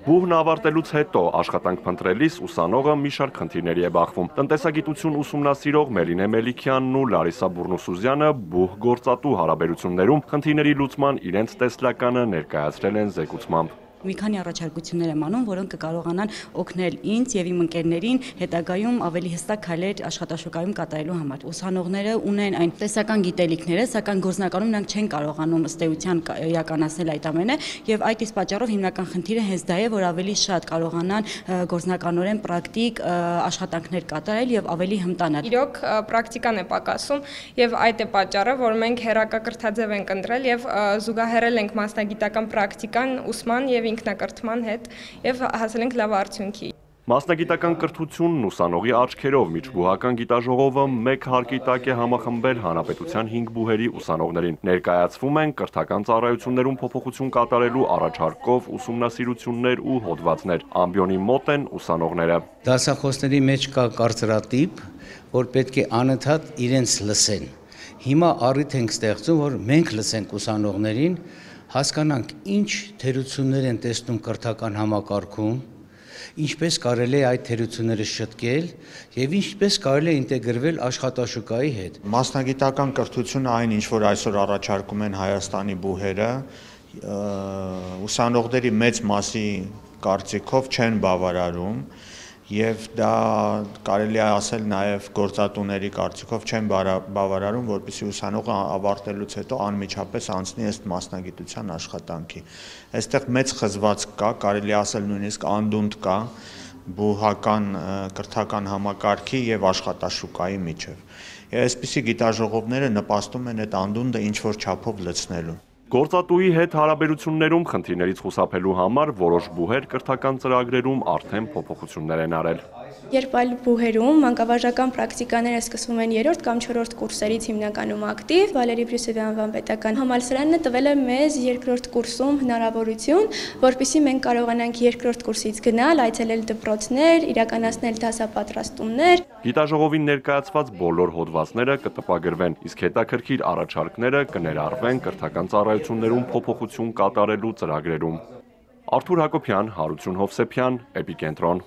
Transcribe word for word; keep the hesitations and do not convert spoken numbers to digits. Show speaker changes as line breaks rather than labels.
Բուհն ավարտելուց հետո աշխատանք փնտրելիս ուսանողը մի շարք խնդիրների է բախվում։ Տնտեսագիտություն ուսումնասիրող Մելինե Մելիքյանն ու Լարիսա Բուրնուսուզյանը բուհ գործատու հարաբերություններում խնդիրների լուծման իրենց տեսլականը ներկայացրել են զեկուցմամբ։
Մի քանի առաջարկություններ եմ անում, որոնք կկարողանան օգնել ինձ եւ իմ ընկերներին հետագայում ավելի հստակ քայլեր աշխատաշուկայում կատարելու համար։ Ուսանողները ունեն այն տեսական գիտելիքները, սակայն գործնականում նրանք չեն կարողանում ըստ էության իրականացնել այդ ամենը, եւ այդ իսկ պատճառով հիմնական խնդիրը հենց դա է, որ ավելի շատ կարողանան գործնականորեն պրակտիկ աշխատանքներ կատարել եւ ավելի հմտանալ։
Իրոք պրակտիկան է պակասում եւ այդ է պատճառը, որ մենք հերակակրթաձև ենք ընտրել եւ զուգահեռել ենք մասնագիտական պրակտիկան ուսման եւ ինքնակրթման հետ եւ հասել ենք լավ արդյունքի։
Մասնագիտական կրթությունն ուսանողի աչքերով միջբուհական գիտաժողովը մեկ հարկի տակ է համախմբել հանրապետության հինգ բուհերի ուսանողներին։ Ներկայացվում են կրթական ծառայություններում փոփոխություն կատարելու առաջարկով ուսումնասիրություններ ու հոդվածներ։ Ամբիոնի մոտ են ուսանողները։
Դասախոսների մեջ կա կարծրատիպ, որ պետք է անընդհատ իրենց լսեն։ Հիմա առիթ ենք ստեղծում, որ մենք լսենք ուսանողներին, հասկանանք ինչ թերություններ են տեսնում կրթական համակարգում, ինչպես կարելի է այդ թերությունները շտկել եւ ինչպես կարելի է ինտեգրվել աշխատաշուկայի հետ։
Մասնագիտական կրթությունը այն ինչ որ այսօր առաջարկում են Հայաստանի բուհերը, ուսանողների մեծ մասի կարծիքով չեն բավարարում եւ դա կարելի է ասել նաեւ գործատուների կարծիքով չեն բավարարում, որպեսզի ուսանողը ավարտելուց հետո անմիջապես անցնի ըստ մասնագիտության աշխատանքի։ Այստեղ մեծ խզվածք կա, կարելի է ասել նույնիսկ անդունդ կա բուհական կրթական համակարգի եւ աշխատաշուկայի միջեւ։ Այսպիսի գիտաժողովները նպաստում են այդ անդունդը ինչ որ չափով լցնելու։
Գործատուի հետ հարաբերություններում խնդիրներից խուսափելու համար որոշ բուհեր կրթական ծրագրերում արդեն փոփոխություններ են արել։
Երբ այլ բուհերում մանկավարժական պրակտիկաները սկսվում են երրորդ կամ չորրորդ կուրսերից հիմնականում ակտիվ, Վալերի Բրյուսովի անվան պետական համալսարանը տվել է մեզ երկրորդ կուրսում հնարավորություն, որպեսզի մենք կարողանանք երկրորդ կուրսից գնալ, այցելել դպրոցներ, իրականացնել դասապատրաստումներ։
Գիտաժողովին ներկայացված բոլոր հոդվածները կտպագրվեն, իսկ հետաքրքիր առաջարկները կներառվեն կրթական ծառայություններում փոփոխություն կատարելու ծրագրերում։ Արթուր Հակոբյան, Հարություն Հովսեփյան, Էպիկենտրոն։